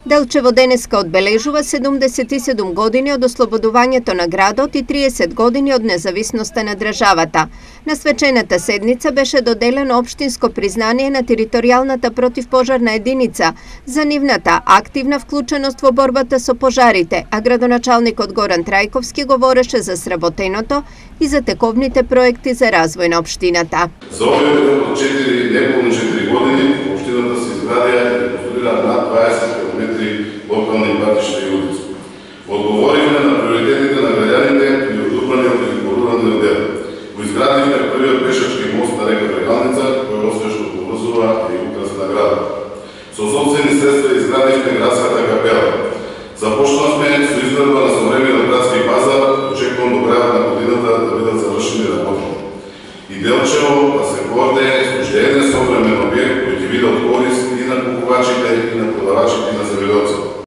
Делчево денеска одбележува 77 години од ослободувањето на градот и 30 години од независноста на државата. На свечената седница беше доделено општинско признание на територијалната противпожарна единица за нивната активна вклученост во борбата со пожарите, а градоначалникот Горан Трајковски говореше за сработеното и за тековните проекти за развој на општината. За овој период од 4 години општината се изградија и реконструира над 20 километри локални патишта и улици. Одговоривме на приоритетите на граѓаните и од урбаниот и руралниот дел. Го изградивме првиот пешачки мост на река Брегалница, кој успешно поврзува и украсна градот. Со сопствени средства изградивме градската капела. Започнавме со изградба на современиот градски пазар, очекувам до крајот на годината да бидат завршени работи. И Делчево да се гордее со уште еден современ објект кој ќе биде од корис и на купувачите и на продавачите.